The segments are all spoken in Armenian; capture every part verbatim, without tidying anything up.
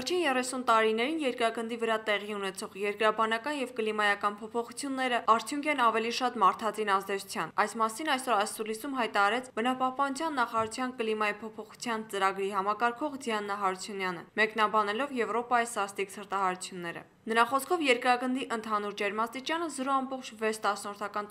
Վերջին երեսուն տարիներին երկրագնդի վրա տեղի ունեցող երկրաբանական և կլիմայական փոփոխությունները արդյունք են ավելի շատ մարդածին ազդեցության։ Այս մասին այսօր ասուլիսում հայտարարեց Բնապահպանության նախարարության կլիմայի փոփոխության ծրագրի համակարգող Դիանա Հարությունյանը, մեկնաբանելով Եվրոպայի սաստիկ ցրտահարությունները։ Նրա խոսքով երկրագնդի ընդհանուր ջերմաստիճանը զրո ամբողջ վեց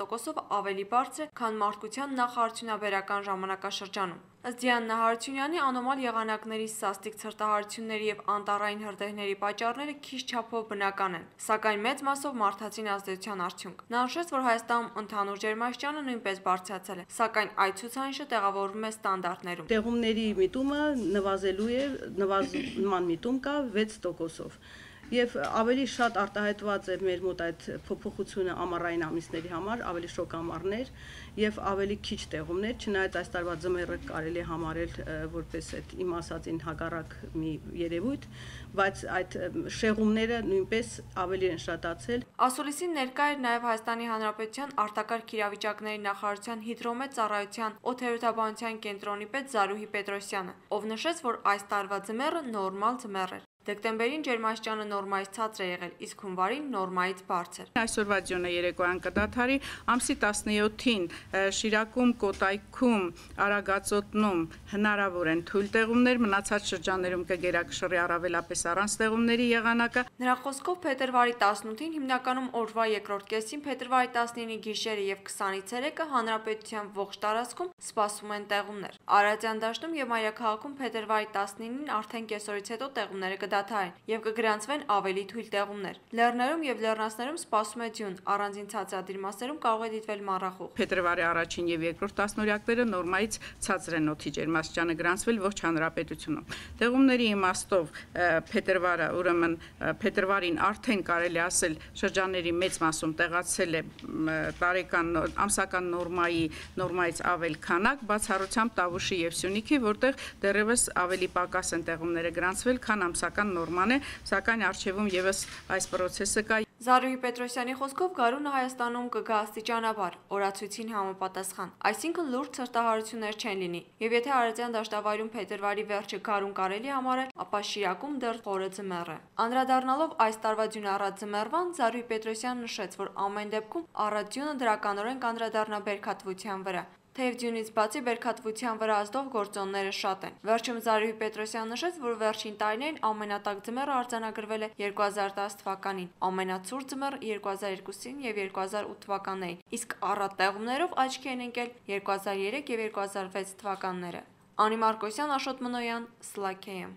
տոկոսով ավելի բարձր է, քան մարդկության նախարարությունաբերական ժամանակաշրջանում։ Ըստ Դիանա Հարությունյանի, անոմալ եղանակների սաստիկ ցրտահարությունների և անտառային հրդեհների պատճառները քիչ չափով բնական են, սակայն մեծ մասով մարդածին ազդեցության արդյունք։ Նա նշեց, որ Հայաստանում ընդհանուր ջերմաստիճանը նույնպես բարձրացել է, սակայն այդ ցուցանիշը տեղավորվում է ստանդարտներում։ Տեղումների միտումը նվազելու է, նվազման միտում կա վեց տոկոսով։ Եվ ավելի շատ արտահայտված է մեր մոտ այդ փոփոխությունը ամառային ամիսների համար, ավելի շոգ ամառներ եւ ավելի քիչ տեղումներ, չնայած այս տարվա ձմեռը կարելի է համարել որպես այդ իմ ասածին հակառակ մի երևույթ, բայց այդ շեղումները նույնպես ավելի են շատացել։ Ասուլիսին ներկա էր նաեւ Հայաստանի Հանրապետության արտակարգ իրավիճակների նախարարության հիդրոմետ ծառայության օդերոթաբանության կենտրոնի պետ Զարուհի Պետրոսյանը, ով նշեց, որ այս տարվա ձմեռը նորմալ ձմեռ էր։ Դեկտեմբերին ջերմաստիճանը նորմայից ցածր է եղել, իսկ հունվարին նորմայից բարձր։ Այսօրվա ձյունը երեկոյան կդադարի, ամսի տասնյոթին Շիրակում, Կոտայքում, Արագածոտնում հնարավոր են թույլ տեղումներ, մնացած շրջաններում կգերակշռի առավելապես առանց տեղումների եղանակը։ Նրա խոսքով փետրվարի տասնութին, հիմնականում օրվա երկրորդ կեսին, փետրվարի տասնինի գիշերը եւ քսանից երեկը հանրապետության ողջ տարածքում սպասվում են տեղումներ։ Արարատյան դաշտում եւ մայրաքաղաքում փետրվարի տասնինին արդեն կեսօրից հետո տեղումները կդադարեն եւ կգրանցվեն ավելի թույլ տեղումներ։ Լեռներում եւ լեռնանցքներում սպասվում է ձյուն, առանձին ցածրադիր մասերում կարող է դիտվել մառախուղ։ Փետրվարի առաջին եւ երկրորդ տասնօրյակները նորմայից ցածր են օդի ջերմաստիճանը գրանցվել ողջ հանրապետությունում։ Տեղումների իմաստով փետրվարը, ուրեմն փետրվարին արդեն կարելի ասել շրջանների մեծ մասում տեղացել է տարեկան ամսական նորմայի նորմայից ավել քանակ, բացառությամբ Տավուշի եւ Սյունիքի, որտեղ դեռևս ավելի պակաս են տեղումները գրանցվել, քան ամսական նորման է, սակայն արժևում եւս այս process-ը կա։ Զարուհի Պետրոսյանի խոսքով գարունը Հայաստանում կգա աստիճանաբար, օրացույցին համապատասխան, այսինքն լուրջ ցրտահարություններ չեն լինի, եւ եթե Արարատյան դաշտավայրում փետրվարի վերջը գարուն կարելի համարել, ապա Շիրակում դեռ խորը ձմեռ է։ Անդրադառնալով այս տարվա ձյունառատ ձմեռվան, Զարուհի Պետրոսյանն նշեց, որ ամեն դեպքում առատ ձյունը դրականորեն կանդրադառնա բերքատվության վրա։ Թեև ձյունից բացի բերքատվության վրա ազդող գործոնները շատ են։ Վերջում Զարուհի Պետրոսյանն նշեց, որ վերջին տարիներին ամենատաք ձմեռը արձանագրվել է երկու հազար տասը թվականին, ամենացուրտ ձմեռը երկու հազար երկուսին եւ երկու հազար ութ թվականներին, իսկ առատ տեղումներով աչքի են ընկել երկու հազար երեք եւ երկու հազար վեց թվականները։ Անի Մարկոսյան, Աշոտ Մնոյան, Սլաքեյ։